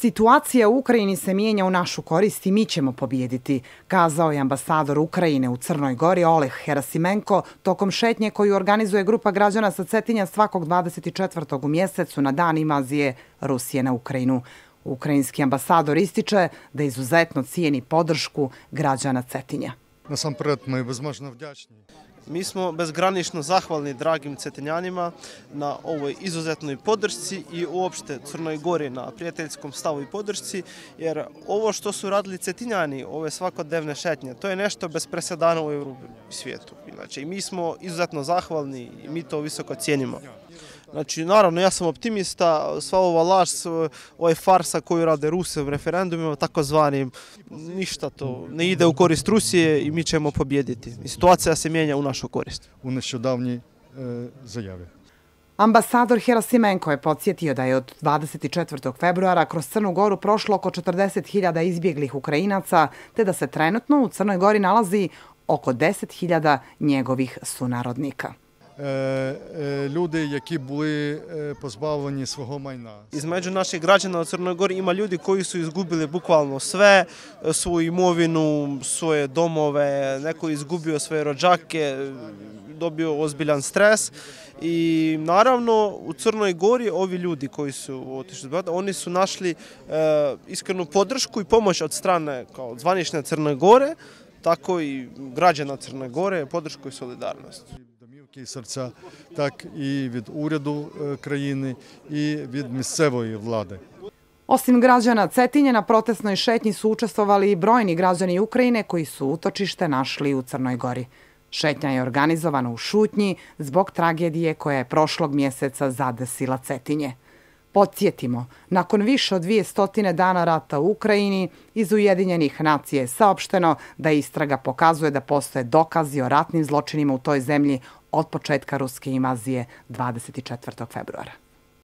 Situacija u Ukrajini se mijenja u našu korist i mi ćemo pobijediti, kazao je ambasador Ukrajine u Crnoj Gori Oleh Herasimenko tokom šetnje koju organizuje grupa građana sa Cetinja svakog 24. u mjesecu na dan invazije Rusije na Ukrajinu. Ukrajinski ambasador ističe da izuzetno cijeni podršku građana Cetinja. Насамперед, ми безмежно вдячні. Mi smo bezgranično zahvalni dragim Cetinjanima na ovoj izuzetnoj podršci i uopšte Crnoj Gori na prijateljskom stavu i podršci, jer ovo što su radili Cetinjani, ove svakodnevne šetnje, to je nešto bez presedana u Evropi i svijetu. Znači, mi smo izuzetno zahvalni i mi to visoko cijenimo. Znači, naravno, ja sam optimista, sva ova laž, ovaj farsa koju rade Rusi u referendumima, takozvanim, ništa to ne ide u korist Rusije i mi ćemo pobijediti. I situacija se mijenja u našu korist. У нещодавній заяві. Ambasador Herasimenko je podsjetio da je od 24. februara kroz Crnu Goru prošlo oko 40.000 izbjeglih Ukrajinaca, te da se trenutno u Crnoj Gori nalazi oko 10.000 njegovih sunarodnika. Люди, які були позбавлені свого майна. Između naših građana u Crnoj Gori ima ljudi koji su izgubili bukvalno sve, svoju imovinu, svoje domove, neko je izgubio svoje rođake, dobio ozbiljan stres i naravno u Crnoj Gori ovi ljudi koji su otišli, oni su našli iskrenu podršku i pomoć od strane kao zvanične Crne Gore, tako i građana Crne Gore, podršku i solidarnost. Домівки і серця, так і від уряду країни, і від місцевої влади. Osim građana Cetinja, na protestnoj šetnji su učestvovali i brojni građani Ukrajine koji su utočište našli u Crnoj Gori. Šetnja je organizovana u šutnji zbog tragedije koja je prošlog mjeseca zadesila Cetinje. Podsjetimo, nakon više od 200 dana rata u Ukrajini, iz Ujedinjenih nacija je saopšteno da istraga pokazuje da postoje dokazi o ratnim zločinima u toj zemlji od početka ruske invazije 24. februara.